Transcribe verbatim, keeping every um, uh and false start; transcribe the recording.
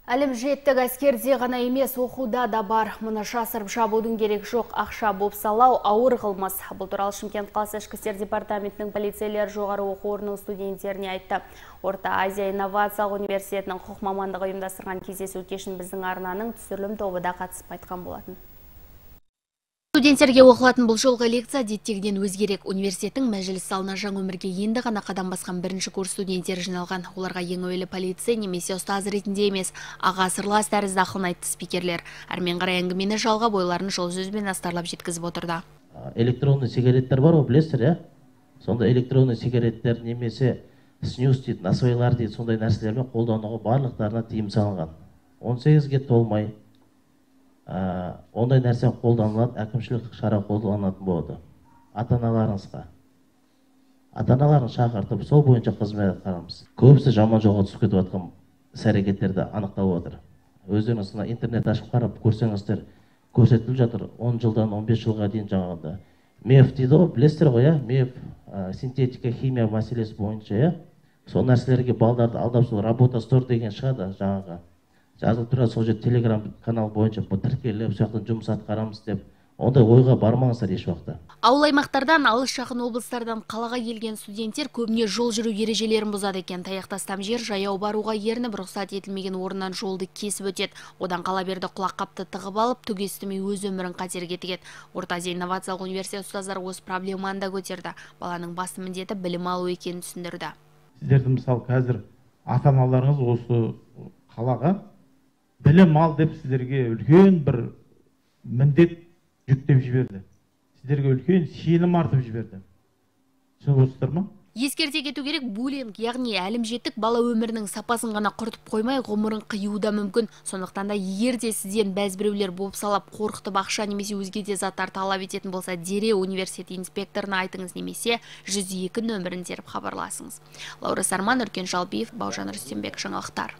Әлім жеттік әскерде ғана емес, оқуда да бар. Мұны жасырып жабудың керек жоқ, ақша бопсалау ауыр қылмыс. Бұл туралы Шымкент қаласы ішкі істер департаментінің полицейлер жоғары оқу орнының студенттеріне айтты. Орта Азия инновациялық университетінің құқық мамандығы ұйымдастырған кездесу кешін біздің арнаның түсірілім тобы да қатысып айтқан болатын. Студенттерге оқылатын бұл жолғы лекция әдеттегіден өзгерек. Университеттің мәжіліс залына жаңа өмірге енді ғана қадам басқан бірінші курс студенттері жиналған. Оларға ең әуелі полицей немесе ұстаз ретінде емес, аға сырлас тәрізді ақылын айтты спикерлер. Әрмен қарай әңгімені жалғап, ойларын жол сөзбен астарлап жеткізіп отырды. Электронный сигареттер бар, білесіздер, иә? Сонда электронный сигареттер немесе снюс дейді, насвайлар дейді, сондай нәрселермен қолдануға барлықтарына тыйым салынған. он сегізге толмай ондай нәрсе қолданылады, әкімшілік шара қолданылатын болады. Ата-аналарыңызға. Ата-аналарын шақыртып, сол бойынша қызмет атқарамыз. Көбісі жаман жолға түсіп кетіп жатқан іс-әрекеттерді анықтап отыр. Өздеріңіз интернет ашып қарап көрсеңіздер, көрсетіліп жатыр он жылдан он бес жылға дейін жаңағыда. меф дейді ғой, білесіздер ғой, иә? меф, синтетика, химия мәселесі бойынша, иә? Сол нәрселерге балдарды алдап сол работа стор деген шығады жаңағы. Жазылып тұрады, сол жерде телеграм канал бойынша тіркеліп, сол жақтан жұмыс атқарамыз деп, ондай ойға бармаңыздар еш уақытта. Ауыл аймақтардан, алыс жақын облыстардан қалаға келген студенттер көбіне жол жүру ережелерін бұзады екен. Таяқтастам жер жаяу баруға ерініп, рұқсат етілмеген орыннан жолды кесіп өтеді. Одан қала берді құлаққапты тығып алып, түк естімей өз өмірін қатерге тігеді. Орта Азия инновациялық университет ұстаздары осы проблеманы да көтерді. Баланың басты міндеті білім алу екенін түсіндірді. Сіздердің мысалы қазір ата-аналарыңыз осы қалаға білім ал деп сіздерге үлкен бір міндет жүктеп жіберді. Сіздерге үлкен сенім артып жіберді. Түсініп отырсыздар ма? Ескерте кету керек, буллинг, яғни әлімжеттік бала өмірінің сапасын ғана құртып қоймай, ғұмырын қиюы да мүмкін. Сондықтан да егер де сізден бәзбіреулер бопсалап, қорқытып ақша немесе өзге де заттар талап ететін болса, дереу университет инспекторына айтыңыз немесе жүз екі нөмірін теріп хабарласыңыз. Лаура Сарман, Үркен Жалбиев, Бауыржан Рүстембек, жаңалықтар.